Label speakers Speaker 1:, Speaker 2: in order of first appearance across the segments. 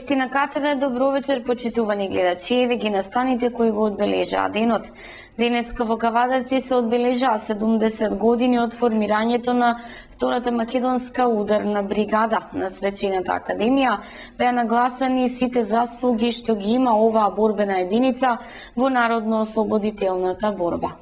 Speaker 1: Вести на КТВ, добро вечер, почитувани гледачи. Еве ги настаните кои го одбележаа денот. Денеска во Кавадарци се одбележаа 70 години од формирањето на Втората македонска ударна бригада. На свечената академија беа нагласани сите заслуги што ги има оваа борбена единица во народно-ослободителната борба.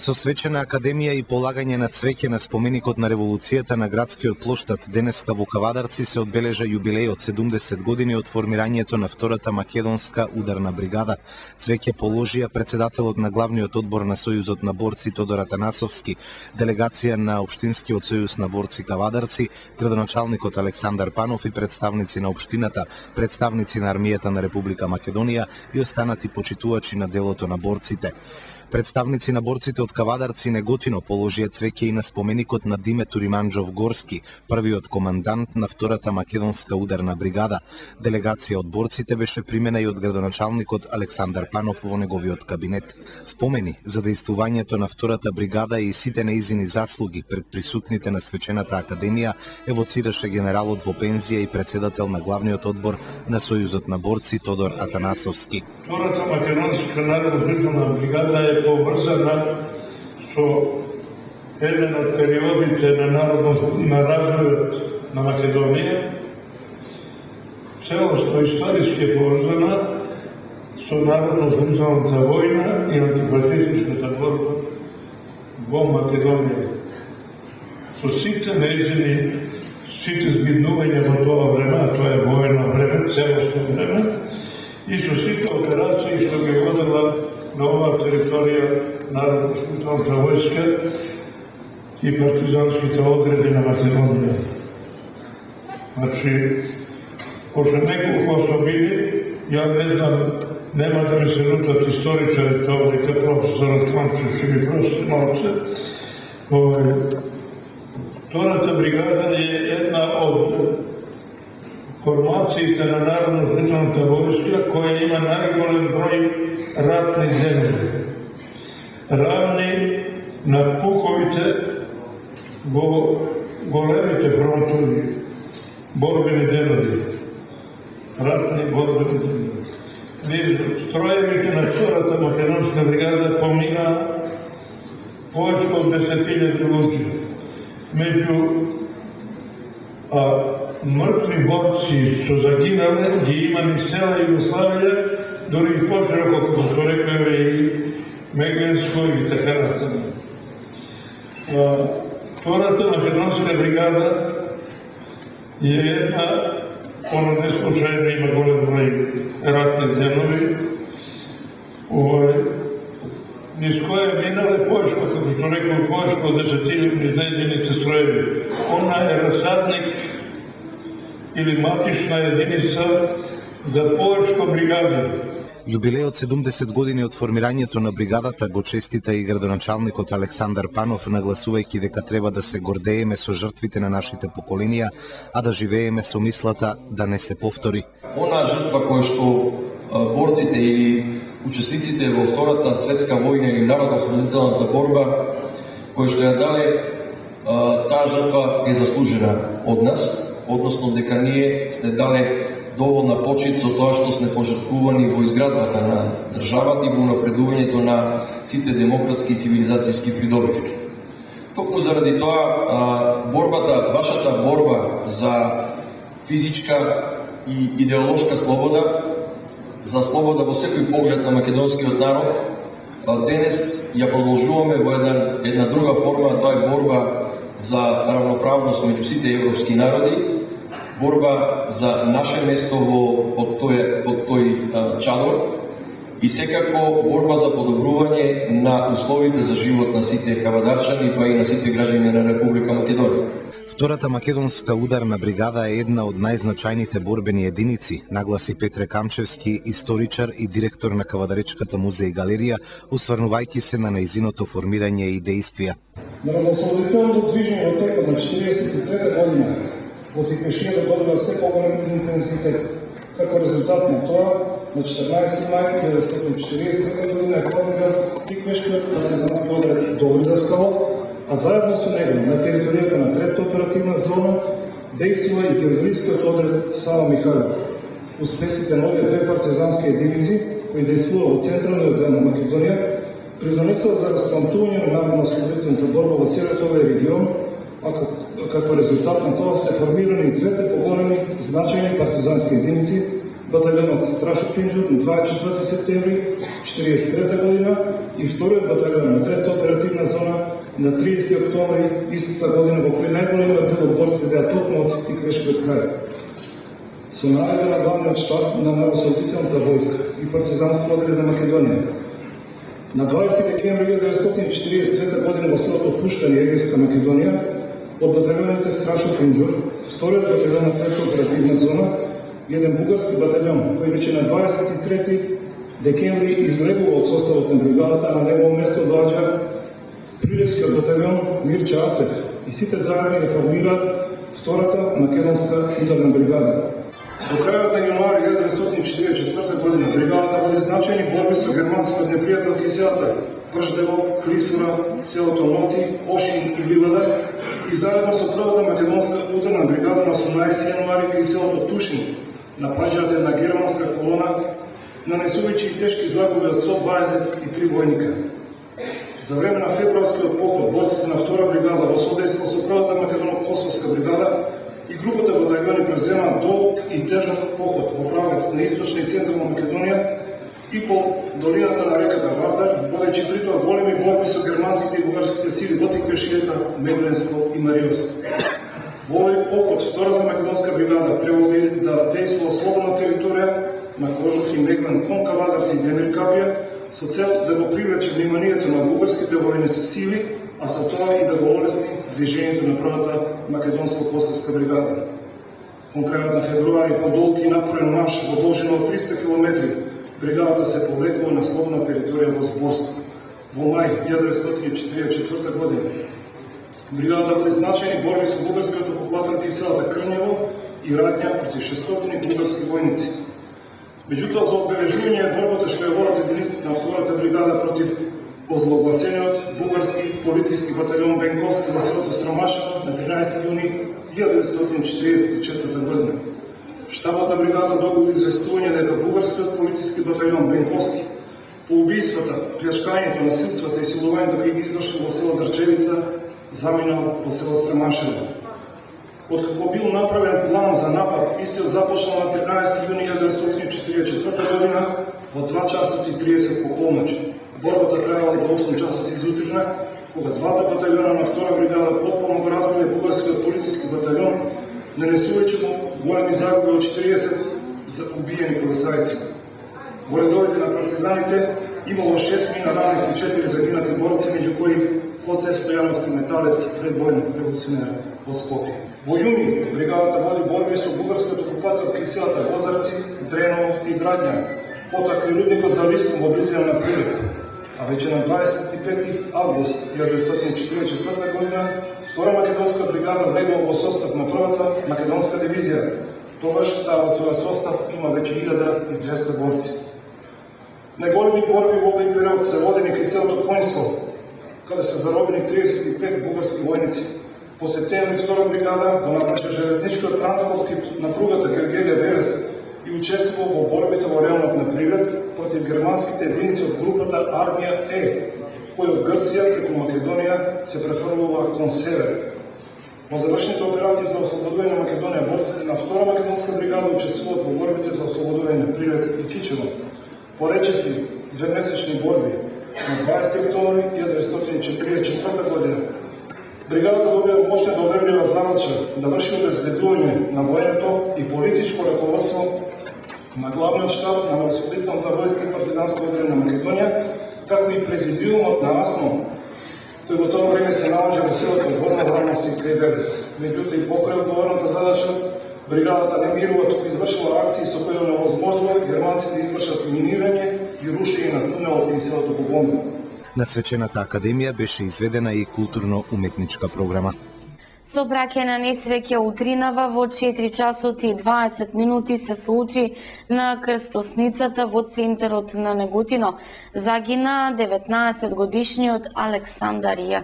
Speaker 2: Со свечена академија и полагање на цвеќе на споменикот на револуцијата на градскиот плоштад, денеска во Кавадарци се одбележа јубилеј од 70 години од формирањето на Втората македонска ударна бригада. Цвеќе положија председателот на главниот одбор на Сојузот на борци Тодор Атанасовски, делегација на Општинскиот сојуз на борци Кавадарци, градоначалникот Александар Панов и представници на општината, представници на армијата на Република Македонија и останати почитувачи на делото на борците. Представници на борците од Кавадарци и Неготино положија цвеќе и на споменикот на Диметур Иманџов Горски, првиот командант на Втората македонска ударна бригада. Делегација од борците беше примена и од градоначалникот Александар Панов во неговиот кабинет. Спомени за дејствувањето на Втората бригада и сите неизини заслуги пред присутните на свечената академија евоцираше генералот во пензија и председател на главниот одбор на Сојузот на борци Тодор Атанасовски.
Speaker 3: Втората македонска народно-ослободителна бригада е поврзана со еден од периодите на развојот на Македонија. Целосно историски е поврзана со народно-ослободителната војна и антифашистичката борба во Македонија. Со сите нејзини, сите збиднувања во тоа време, а тоа е воено време, целосно време, и со сите операции што ги водела на оваа територија Народно-ослободителната војска и партизанските одреди на Македонија. Значи, пошто неколку особини, ја не знам, нема да ми се лутат историчарите овде, дека професорот Камчев ќе ми прости малце. Втората бригада е една од формациите на Народно-ослободителната војска која има најголем број ратни земји, равни на пуховите во големите фронтови, борбени денови, ратни борбени денови. Низ строевите на Втората македонска бригада помина повеќе од 10.000 луѓе. Меѓу мртви борци што загинале ги има низ цела Југославија, дори и пошироко, како што рекојаве и Мегленско и така настапно. Втората македонска бригада е една, она не случајно има голем број ратни денови, низ која минале повеќе, како што рекој, повеќе од 10.000 низ нејзините строеви. Она е расадник или матична единица за повеќе бригади.
Speaker 2: Јубилејот 70 години од формирањето на бригадата го честита и градоначалникот Александар Панов, нагласувајќи дека треба да се гордееме со жртвите на нашите поколенија, а да живееме со мислата да не се повтори.
Speaker 4: Она жртва која што борците или учесниците во Втората светска војна или народно-ослободителната борба, која што ја дале, таа жртва е заслужена од нас, односно дека ние сме дале доволна почит со тоа што сме пожртвувани во изградбата на државата и во напредувањето на сите демократски и цивилизацијски придобивки. Токму заради тоа, вашата борба за физичка и идеолошка слобода, за слобода во секој поглед на македонскиот народ, денес ја продолжуваме во една друга форма, тоа е борба за равноправност меѓу сите европски народи, борба за наше место под тој чадор и секако борба за подобрување на условите за живот на сите кавадарчани, па и на сите граѓани на Република Македонија.
Speaker 2: Втората македонска ударна бригада е една од најзначајните борбени единици, нагласи Петре Камчевски, историчар и директор на Кавадаречката музеј и галерија, осврнувајќи се на нејзиното формирање и дејствија.
Speaker 5: Народно-ослободителното движење во текот на 43-та година во текошија да добива се поголем интензитет. Како резултат на тоа, на 14 мај 1940 година е формиран Тиквешкиот партизански одред Долни Даскалов, а заедно со него на територијата на Третата оперативна зона действува и германскиот одред Сава Михајлов. успесите на овие две партизански единици, кои действува во централниот дел на Македонија, придонесува за распламтување на народно-ослободителната борба во целиот овој регион, а како резултат на тоа се формирани и двете поголеми значајни партизански единици, баталионот Страшо Пинџур на 24 септември 1943 година и вториот баталион на 3-та оперативна зона на 30 октомври истата година, во кој најголемиот дел од борците беа токму од Тиквешкиот крај. Со наредба на главниот штаб на народно-ослободителната војска и партизанско одделение на Македонија. На 20 декември 1943 година во селото Фуштани, Егејска Македонија, од баталионите Страшо Пинџур, вториот баталион на 3-та оперативна зона, еден бугарски баталион, кој веќе на 23 декември излегува од составот на бригадата, а на негово место доаѓа Прилевскиот баталион Мирча Ацев и сите заедно ги формираат втората македонска ударна бригада. До крајот на јануари 1944 година бригадата води значајни борби со германскиот непријател Киселата, Прждево, Клисура, селото Ноти, Ошин и Ливада и заедно со првата македонска ударна бригада на 18 јануари кај селото Тушин напаѓаат една германска колона, нанесувајќи тешки загуби од 123 војника. За време на февруарскиот поход, борците на втора бригада во содейство со првата македоно-косовска бригада и групата батальони превземаат долг и тежок поход во правец на источна и централна Македонија и по долината на реката Вардар, водејќи при тоа големи борби со германските и бугарските сили до Тиквешијата, Медленско и Мариовско. Во овој поход, втората македонска бригада требало да действува слободна територија на Кожов и Меглен кон Кавадарци и Демир Капија, со цел да го привлече вниманието на бугарските војни сили, а со тоа и да го олесни движењето на првата македонско-косовска бригада. Кон крајот на февруари, по долг и напорен марш во должина од 300 км, бригадата се повлекува на слободна територија во Зборско. Во мај 1944 година бригадата води значајни борби со бугарскиот окупатор Киселата Крњево и радња против 600 бугарски војници. Меѓутоа, за одбележување борбата што ја водат единиците на втората бригада против озлогласениот бугарски полициски баталион Бенковски во селото Стромашево на 13 јуни 1944 година. Штабот на бригадата добил известување дека бугарскиот полициски баталион Бенковски по убиствата, плjačкањето, насилствата и силувањето кои ги извршил во село Дрчевица заминал во село Стромашево. Откако бил направен план за напад, истиот започнал на 13 јуни 1944 година во 2 часот и 30 по полноќ. Борбата траела до 8 часот изутрина, кога двата баталиона на втора бригада потполно го разбиле бугарскиот полициски баталион, нанесувајќи му големи загуби од 40 за убиени полицајци. Во редовите на партизаните имало 6 мина ранети и 4 загинати борци, меѓу кои Коцев Стојановски металец, предвојен револуционер од Скопје. Во јуни бригадата води борби со бугарскиот окупатор Киселата, Лозарци, Дреново и Драдња, потоа кај рудникот за Лиском во близина на Прилеп. А веќе на 25 август 1944 година втора македонска бригада влегува во состав на првата македонска дивизија. Тогаш таа во својот состав има веќе 1200 борци. Најголеми борби во овој период се водени кај селото Коњско, каде се заробени 35 бугарски војници. По септември втора бригада го напаѓа железничкиот транспорт на пругата Гергелија-Верес и учествува во борбите во районот на Прилеп против германските единици од групата Армија Е, кои од Грција преку Македонија се префрлува кон север. Во завршните операции за ослободување на Македонија борците на втора македонска бригада учествуваат во борбите за ослободување на Прилеп и Тичево. По речиси двемесечни борби на 20 октомври 1944 година бригадата добија мощна доверлива задача да врши обезбедување на военото и политичко раководство на главниот штаб на Народно-ослободителната војска и партизанско одделение на Македонија, како и президиумот на АСНО, кој во тоа време се наоѓа во селото Горна Врановци кај Велес. Меѓутоа и покрај одговорната задача, бригадата не мирува, туку извршила акции со кои невозможува германците да извршат минирање и рушење на тунелот кај селото Богомил.
Speaker 2: На свечената академија беше изведена и културно-уметничка програма.
Speaker 1: Сообраќајна несреќа утринава во 4 часот и 20 минути се случи на крстосницата во центарот на Неготино. Загина 19 годишниот Александар Ја.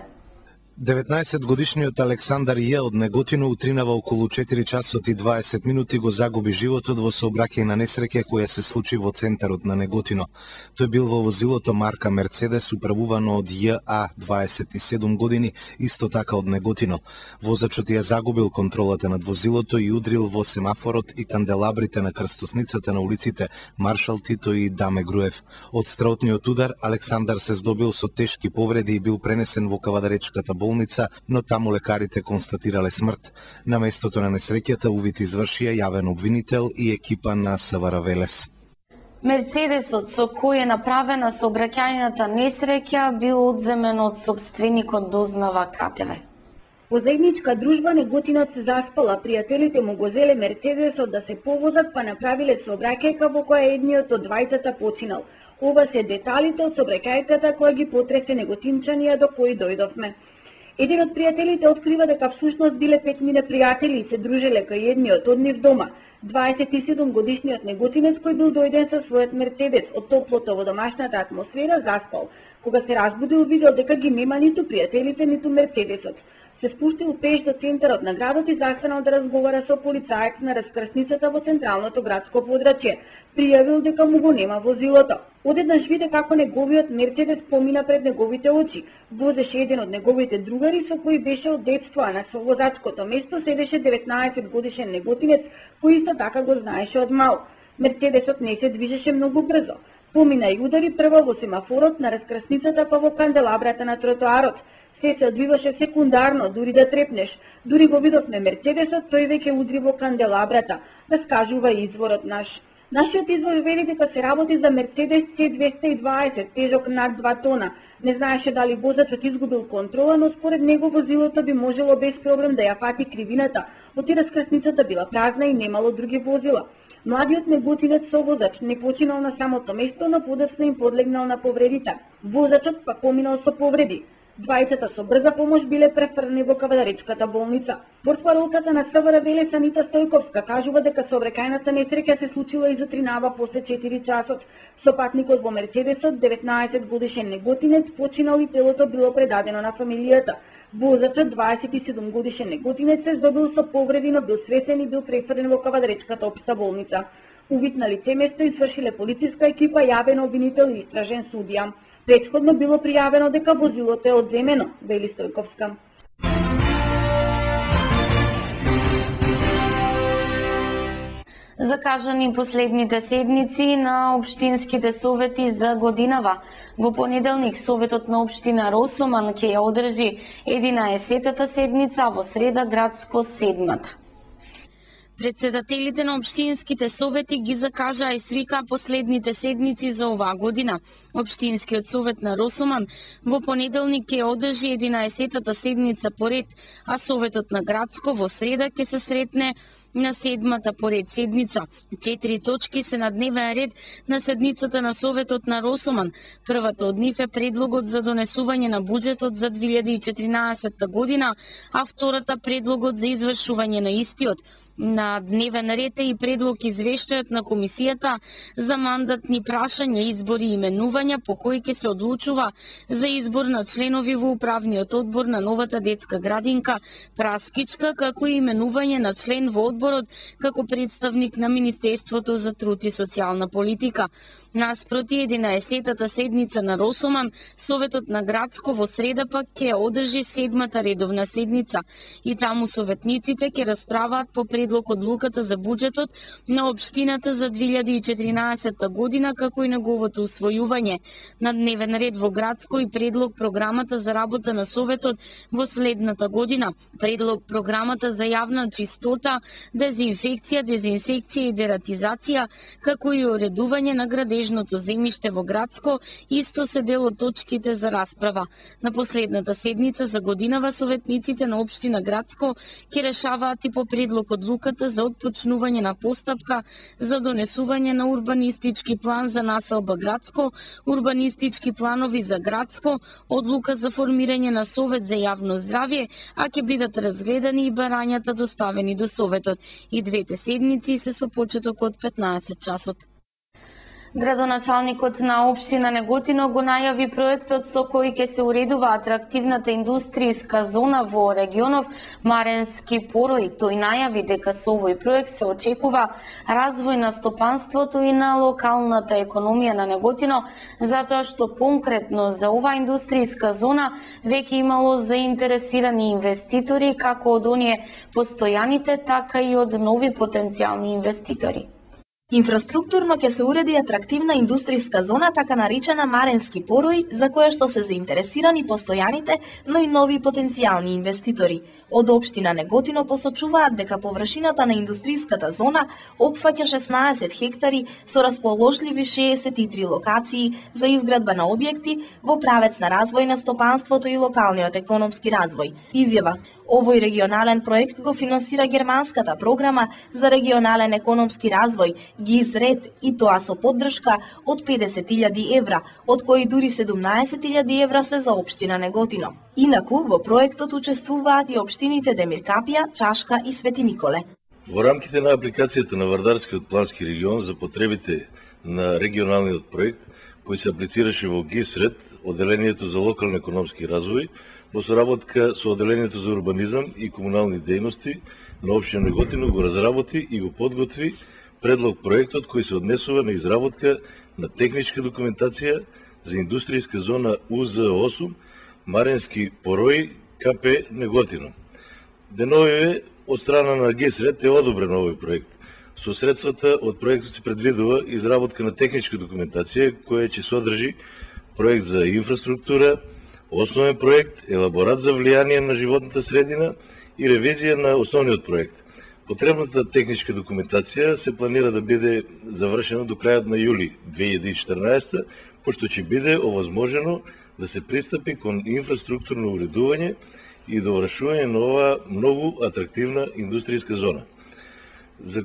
Speaker 2: 19-годишниот Александар Ј од Неготино утринава околу 4 часот и 20 минути го загуби животот во сообраќајна несреќа која се случи во центарот на Неготино. Тој бил во возилото марка Мерцедес управувано од ЈА 27 години, исто така од Неготино. Возачот ја загубил контролата над возилото и удрил во семафорот и канделабрите на крстосницата на улиците Маршал Тито и Даме Груев. Од страотниот удар Александар се здобил со тешки повреди и бил пренесен во Кавадаречката болница, но таму лекарите констатирале смрт. На местото на несреќата увид извршија јавен обвинител и екипа на СВР Велес.
Speaker 1: Мерцедесот со кој е направена сообраќајната несреќа бил одземен од сопственикот, дознава КТВ.
Speaker 6: Возајничка дружба Неготинот се заспала, пријателите му го зеле Мерцедесот да се повозат, па направиле сообраќајка во која едниот од двајцата починал. Ова се деталите од сообраќајката која ги потресе неготинчанија до кои дојдовме. Еден од пријателите открива дека всушност биле 5 пријатели и се дружеле кај едниот од нив дома. 27 годишниот неготинец кој бил дојден со својот Мерцедес од топлото во домашната атмосфера заспал. Кога се разбудил, видел дека ги нема ниту пријателите, ниту Мерцедесот. Се спустил пеш до центарот на градот и застанал да разговара со полицаец на раскрсницата во централното градско подрачје. Пријавил дека му го нема возилото. Одеднаш виде како неговиот Мерцедес помина пред неговите очи. Возеше еден од неговите другари со кој беше од детство, а на совозачкото место седеше 19 годишен неготинец кој исто така го знаеше од мал. Мерцедесот не се движеше многу брзо. Помина и удари прво во семафорот на раскрсницата, па во канделабрата на тротоарот. Се одвиваше секундарно, дури да трепнеш. Дури го видовме Мерцедесот, тој веќе удри во канделабрата, раскажува изворот наш. Нашиот извор вели дека се работи за Мерцедес C220, тежок над 2 тона. Не знаеше дали возачот изгубил контрола, но според него возилото би можело без проблем да ја фати кривината, оти раскрсницата била празна и немало други возила. Младиот неготинец совозач не починал на самото место, но подоцна им подлегнал на повредите. Возачот па поминал со повреди. Двајцата со брза помош биле префрнени во Кавадаречката болница. Портпаролката на СВР Велес Анита Стојковска кажува дека сообраќајната несреќа се случила и затринава после 4 часот. Сопатникот во Мерцедесот, 19 годишен неготинец, починал и телото било предадено на фамилијата. Возачот, 27 годишен неготинец, се здобил со повреди, но бил свесен и бил префрлен во Кавадаречката општа болница. Увид на лице место извршиле полициска екипа, јавен обвинител и истражен судија. Претходно било пријавено дека возилото е одземено, вели Стојковска.
Speaker 1: Закажани последните седници на општинските совети за годинава. Во понеделник советот на општина Росоман ќе ја одржи 11-та седница, а во среда градско 7-та. Председателите на општинските совети ги закажаа и свика последните седници за оваа година. Општинскиот совет на Росоман во понеделник ќе одржи 11-та седница поред, а советот на градско во среда ќе се сретне на 7-та поред седница. 4 точки се на дневен ред на седницата на Советот на Росоман. Првата од нив е предлогот за донесување на буџетот за 2014 година, а втората предлогот за извршување на истиот. На дневен ред е и предлог извештајот на комисијата за мандатни прашања, избори и именувања по кои ќе се одлучува за избор на членови во управниот одбор на новата детска градинка Праскичка, како и именување на член во одборот како представник на Министерството за труд и социјална политика. Наспроти 11-та седница на Росоман, Советот на градско во среда пак ќе одржи 7-та редовна седница и таму советниците ќе расправаат по предлог одлуката за буџетот на општината за 2014 година, како и неговото усвојување. На дневен ред во градско и предлог програмата за работа на Советот во следната година, предлог програмата за јавна чистота, дезинфекција, дезинсекција и дератизација, како и уредување на градежното земјиште во градско, исто се дел од точките за расправа. На последната седница за годинава советниците на општина градско ќе решаваат и по предлог одлуката за отпочнување на постапка за донесување на урбанистички план за населба градско, урбанистички планови за градско, одлука за формирање на совет за јавно здравје, а ќе бидат разгледани и барањата доставени до советот. И двете седници се со почеток од 15 часот. Градоначалникот на општина Неготино го најави проектот со кој ќе се уредува атрактивната индустријска зона во регионов Маренски Порој. Тој најави дека со овој проект се очекува развој на стопанството и на локалната економија на Неготино, затоа што конкретно за оваа индустријска зона веќе имало заинтересирани инвеститори, како од оние постојаните, така и од нови потенцијални инвеститори.
Speaker 7: Инфраструктурно ќе се уреди атрактивна индустријска зона, така наречена Маренски Порој, за која што се заинтересирани постојаните, но и нови потенцијални инвеститори. Од општина Неготино посочуваат дека површината на индустријската зона опфаќа 16 хектари со расположливи 63 локации за изградба на објекти во правец на развој на стопанството и локалниот економски развој. Изјава: овој регионален проект го финансира германската програма за регионален економски развој ГИЗ-РЕД, и тоа со поддршка од 50.000 евра, од кои дури 17.000 евра се за општина Неготино. Инаку во проектот учествуваат и општините Демиркапија, Чашка и Свети Николе.
Speaker 8: Во рамките на апликацијата на Вардарскиот плански регион за потребите на регионалниот проект, кој се аплицираше во ГИЗ-РЕД, Одделението за локален економски развој, во соработка со Одделението за урбанизам и комунални дејности на општина Неготино го разработи и го подготви предлог проектот кој се однесува на изработка на техничка документација за индустријска зона УЗ-8 Маренски Порој, КП Неготино. Деновиве од страна на ГИЗ-РЕД е одобрен овој проект. Со средствата од проектот се предвидува изработка на техничка документација која ќе содржи проект за инфраструктура, основен проект, елаборат за влијание на животната средина и ревизија на основниот проект. Потребната техничка документација се планира да биде завршена до крајот на јули 2014, пошто ќе биде овозможено да се пристапи кон инфраструктурно уредување и довршување на оваа многу атрактивна индустријска зона. За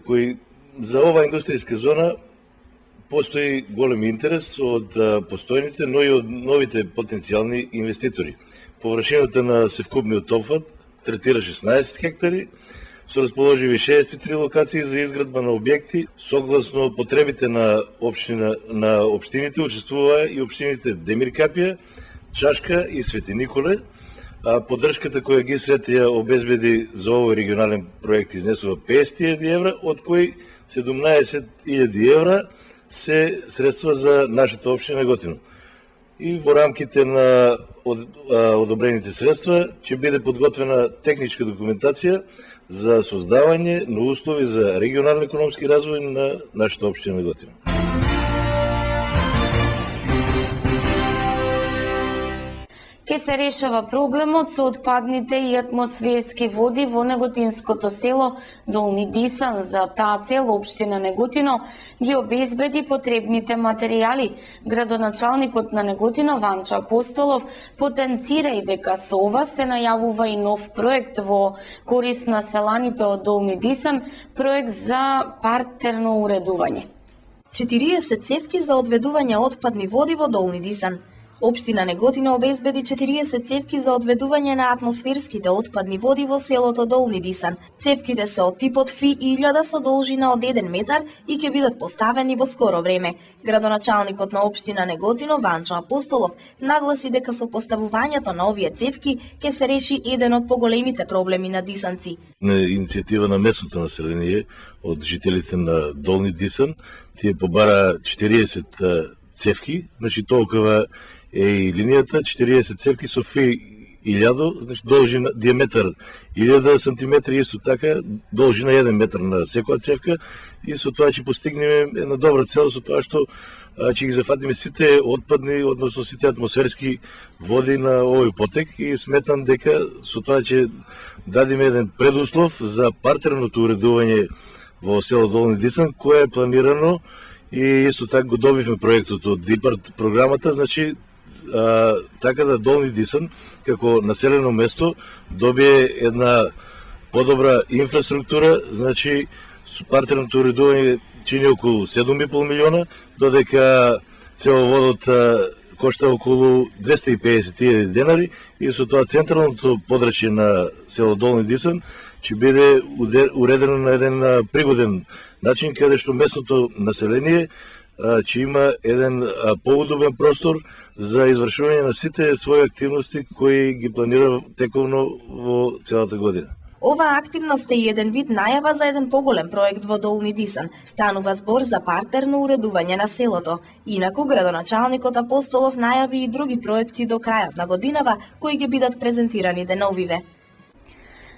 Speaker 8: оваа индустријска зона постои голем интерес од постојните, но и од новите потенцијални инвеститори. Површината на севкупниот опфат третира 16 хектари, со расположиви 63 локации за изградба на објекти. Согласно потребите на општините учествуваа и општините Демиркапија, Чашка и Свети Николе. Поддршката која ГИЗ-РЕД ја обезбеди за овој регионален проект изнесува 50.000 евра, од кои 17.000 евра се средства за нашата општина Неготино. И во рамките на одобрените средства ќе биде подготвена техничка документација за создавање на услови за регионален економски развој на нашата општина Неготино.
Speaker 1: Ке се решава проблемот со отпадните и атмосферски води во неготинското село Долни Дисан. За таа цел општина Неготино ги обезбеди потребните материјали. Градоначалникот на Неготино Ванчо Апостолов потенцира и дека со ова се најавува и нов проект во корист на селаните од Долни Дисан, проект за партерно уредување.
Speaker 7: 40 цевки за одведување отпадни води во Долни Дисан. Општина Неготино обезбеди 40 цевки за одведување на атмосферските отпадни води во селото Долни Дисан. Цевките се од типот Фи-1000 со должина од 1 метар и ќе бидат поставени во скоро време. Градоначалникот на општина Неготино Ванчо Апостолов нагласи дека со поставувањето на овие цевки ќе се реши еден од поголемите проблеми на дисанци.
Speaker 8: На иницијатива на местното население од жителите на Долни Дисан, тие побара 40 цевки, значи толкова е и линијата, 40 цевки со Фи-1000, значи должина, диаметар 1000 сантиметри, исто така должина 1 метар на секоја цевка, и со тоа ќе постигнеме една добра цел, со тоа што ќе ги зафатиме сите отпадни, односно сите атмосферски води на овој потек, и сметам дека со тоа ќе дадиме еден предуслов за партерното уредување во село Долни Дисан, кое е планирано, и исто така го добивме проектот од ИПАРТ програмата, значи така да Долни Дисан како населено место добие една подобра инфраструктура, значи партерното уредување чини околу 7,5 милиона, додека цевоводот кошта околу 250.000 денари, и со тоа централното подрачје на село Долни Дисан ќе биде уредено на еден пригоден начин, каде што местното население че има еден поудобен простор за извршување на сите своји активности кои ги планира тековно во целата година.
Speaker 7: Оваа активност е и еден вид најава за еден поголем проект во Долни Дисан. Станува збор за партерно уредување на селото. Инаку, градоначалникот Апостолов најави и други проекти до крајот на годинава, кои ќе бидат презентирани деновиве.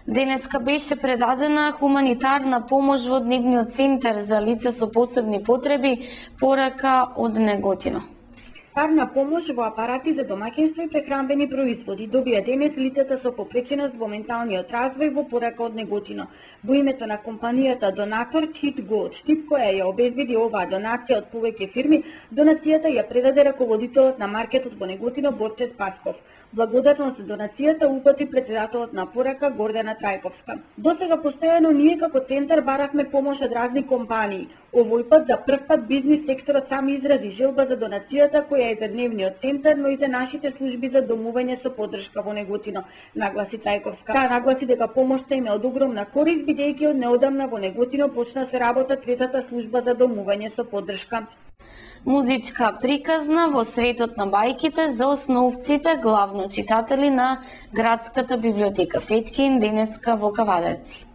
Speaker 1: Денеска беше предадена хуманитарна помош во Дневниот центар за лица со посебни потреби, порака од Неготино.
Speaker 6: Парна помош во апарати за домаќинство и прехранбени производи добија денес лицата со попреченост во менталниот развој во порака од Неготино. Во името на компанијата донатор Cheat Gold Штип, која ја обезбеди оваа донација од повеќе фирми, донацијата ја предаде раководителот на маркетот во Неготино Борче Спасков. Благодарност за донацијата упати председателот на порака Гордана Трајковска. Досега постојано ние како центар баравме помош од разни компании. Овој пат за прв пат бизнис секторот сам изрази желба за донацијата која е за Дневниот центар, но и за нашите служби за домување со поддршка во Неготино, нагласи Трајковска. Таа нагласи дека помошта им е од огромна корист, бидејќи од неодамна во Неготино почна се работа третата служба за домување со поддршка.
Speaker 1: Музичка приказна во светот на бајките за основците, главно читатели на Градската библиотека Феткин денеска во Кавадарци.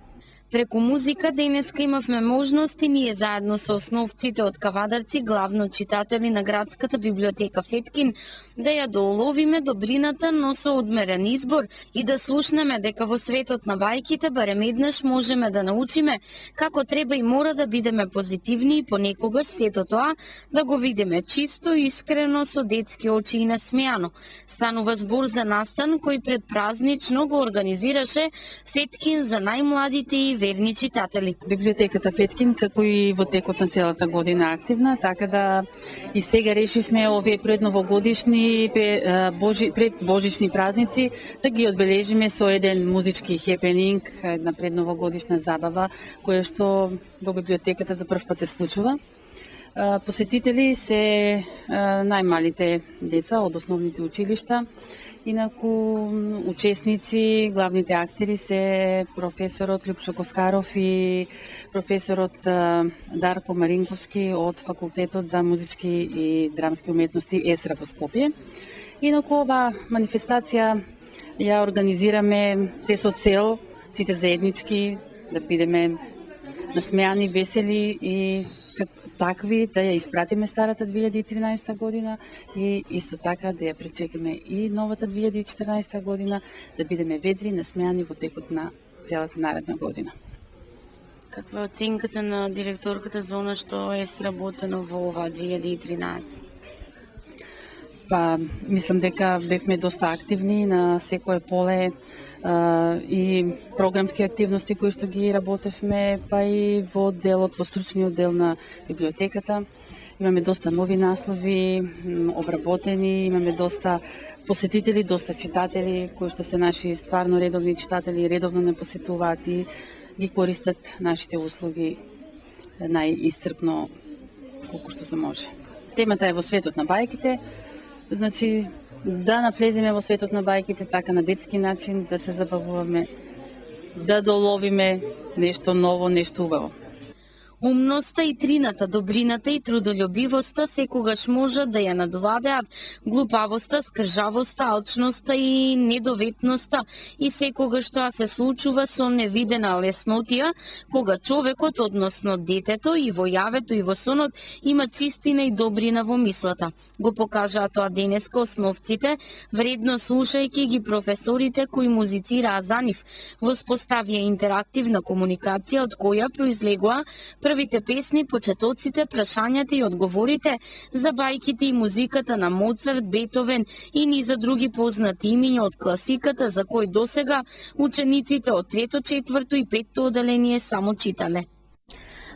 Speaker 1: Преку музика денеска имавме можност и ние заедно со основците од Кавадарци, главно читатели на Градската библиотека Феткин, да ја доуловиме добрината, но со одмерен избор и да слушнеме дека во светот на бајките барем еднаш можеме да научиме како треба и мора да бидеме позитивни и понекогаш сето тоа да го видиме чисто, искрено, со детски очи и насмејано. Станува збор за настан кој предпразнично го организираше Феткин за најмладите и верни читатели.
Speaker 9: Библиотеката Феткин, како и во текот на целата година активна, така да и сега решивме овие предновогодишни предбожични празници да ги одбележиме со еден музички хепенинг, една предновогодишна забава, која што во библиотеката за прв пат се случува. Посетители се најмалите деца од основните училишта. Инаку учесници, главните актери се професорот Лјупчо Коскаров и професорот Дарко Маринковски од Факултетот за музички и драмски уметности ЕСРА во Скопје. Инаку оваа манифестација ја организираме се со цел сите заеднички да бидеме насмеани, весели и такви да ја испратиме старата 2013 година и исто така да ја пречекаме и новата 2014 година, да бидеме ведри, насмеани во текот на целата наредна година.
Speaker 1: Каква е оценката на директорката за она што е сработено во оваа 2013?
Speaker 9: Мислам дека бевме доста активни на секое поле и програмски активности кои што ги работевме, па и во делот, во стручниот дел на библиотеката. Имаме доста нови наслови, обработени, имаме доста посетители, доста читатели, кои што се наши стварно редовни читатели и редовно не посетуваат и ги користат нашите услуги најисцрпно колку што се може. Темата е во светот на бајките, значи да навлеземе во светот на бајките така на детски начин, да се забавуваме, да доловиме нешто ново, нешто убаво.
Speaker 1: Умноста и трината, добрината и трудолюбивоста секогаш можат да ја надвладеат глупавоста, скржавоста, алчноста и недоветноста и секогаш тоа се случува со невидена леснотија, кога човекот, односно детето, и во јавето и во сонот има чистина и добрина во мислата. Го покажаа тоа денеска основците, вредно слушајќи ги професорите кои музицираа за нив, воспоставија интерактивна комуникација од која произлегува првите песни, почетоците, прашањата и одговорите за бајките и музиката на Моцарт, Бетовен и низа други познати имиња од класиката за кои досега учениците од 3-то, 4-то и 5-то оделение само читале.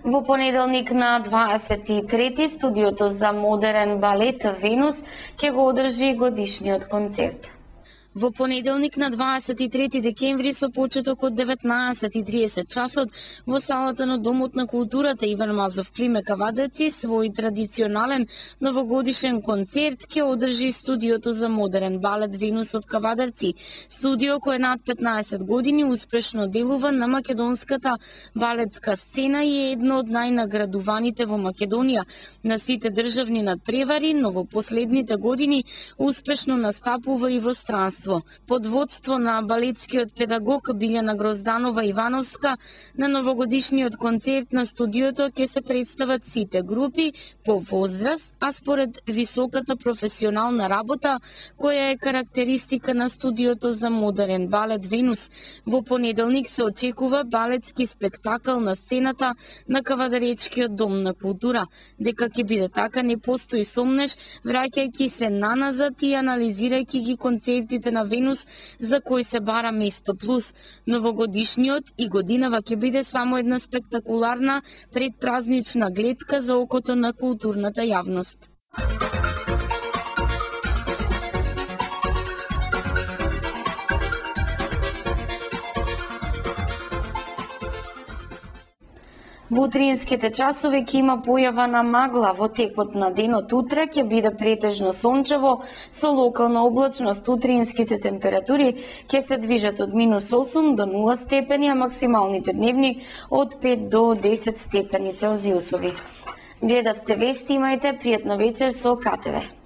Speaker 1: Во понеделник на 23-ти студиото за модерен балет Венус ќе го одржи годишниот концерт. Во понеделник на 23 декември со почеток од 19:30 часот во салата на Домот на културата Иван Мазов Климе Кавадарци свој традиционален новогодишен концерт ќе одржи студиото за модерен балет Венус од Кавадарци. Студио кој над 15 години успешно делува на македонската балетска сцена и е едно од најнаградуваните во Македонија на сите државни надпревари, но во последните години успешно настапува и во странство. Под водство на балетскиот педагог Билјана Грозданова Ивановска, на новогодишниот концерт на студиото ќе се представат сите групи по возраст, а според високата професионална работа, која е карактеристика на студиото за модерен балет Венус. Во понеделник се очекува балетски спектакл на сцената на Кавадаречкиот дом на култура. Дека ќе биде така не постои сомнеш, враќајќи се наназад и анализирајќи ги концертите на Венус за кој се бара место плюс. Новогодишниот и годинава ќе биде само една спектакуларна предпразнична гледка за окото на културната јавност. Во утринските часови ќе има појава на магла. Во текот на денот утре ќе биде претежно сончево со локална облачност. Утринските температури ќе се движат од -8 до 0 степени, а максималните дневни од 5 до 10 степени Целзиусови. Гледавте вести, имајте пријатна вечер со КТВ.